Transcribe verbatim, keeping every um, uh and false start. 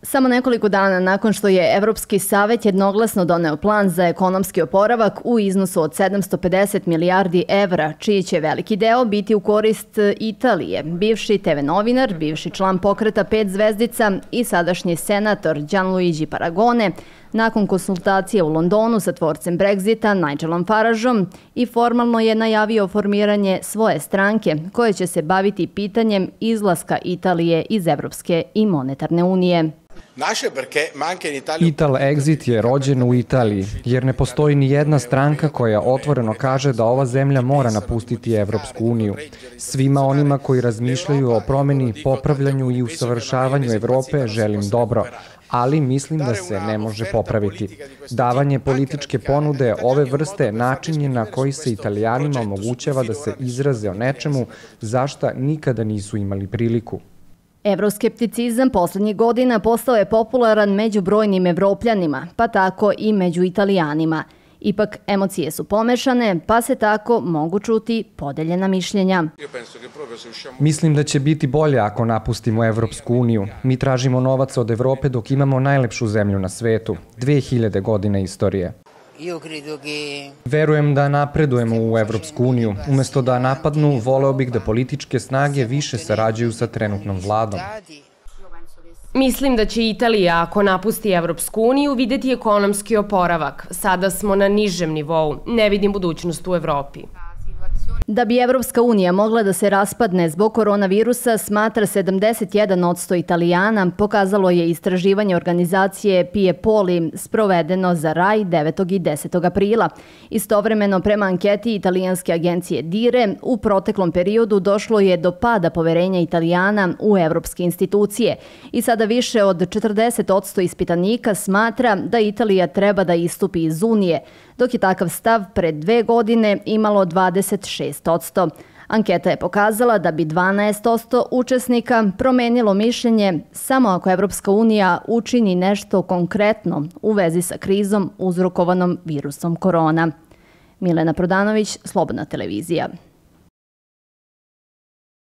Samo nekoliko dana nakon što je Evropski savet jednoglasno doneo plan za ekonomski oporavak u iznosu od sedamsto pedeset milijardi evra, čiji će veliki deo biti u korist Italije, bivši te ve novinar, bivši član pokreta pet zvezdica i sadašnji senator Gianluigi Paragone, nakon konsultacije u Londonu sa tvorcem Brexita Nigelom Farageom i formalno je najavio formiranje svoje stranke koje će se baviti pitanjem izlaska Italije iz Evropske i monetarne unije. Ital Exit je rođen u Italiji, jer ne postoji ni jedna stranka koja otvoreno kaže da ova zemlja mora napustiti Evropsku uniju. Svima onima koji razmišljaju o promeni, popravljanju i usavršavanju Evrope želim dobro, ali mislim da se ne može popraviti. Davanje političke ponude ove vrste način je na koji se Italijanima omogućava da se izraze o nečemu za šta nikada nisu imali priliku. Evroskepticizam poslednjih godina postao je popularan među brojnim Evropljanima, pa tako i među Italijanima. Ipak, emocije su pomešane, pa se tako mogu čuti podeljena mišljenja. Mislim da će biti bolje ako napustimo Evropsku uniju. Mi tražimo novac od Evrope dok imamo najlepšu zemlju na svetu. dve hiljade godina istorije. Verujem da napredujemo u Evropsku uniju. Umesto da napadnu, voleo bih da političke snage više sarađuju sa trenutnom vladom. Mislim da će Italija, ako napusti Evropsku uniju, videti ekonomski oporavak. Sada smo na nižem nivou. Ne vidim budućnost u Evropi. Da bi Evropska unija mogla da se raspadne zbog koronavirusa, smatra sedamdeset jedan posto Italijana, pokazalo je istraživanje organizacije Piepoli sprovedeno za Rai devetog i desetog aprila. Istovremeno, prema anketi italijanske agencije Dire, u proteklom periodu došlo je do pada poverenja Italijana u evropske institucije i sada više od četrdeset posto ispitanika smatra da Italija treba da istupi iz Unije, dok je takav stav pred dve godine imalo dvadeset šest posto. Anketa je pokazala da bi dvanaest posto učesnika promenilo mišljenje samo ako Evropska unija učini nešto konkretno u vezi sa krizom uzrokovanom virusom korona. Milena Prodanović, Slobodna televizija.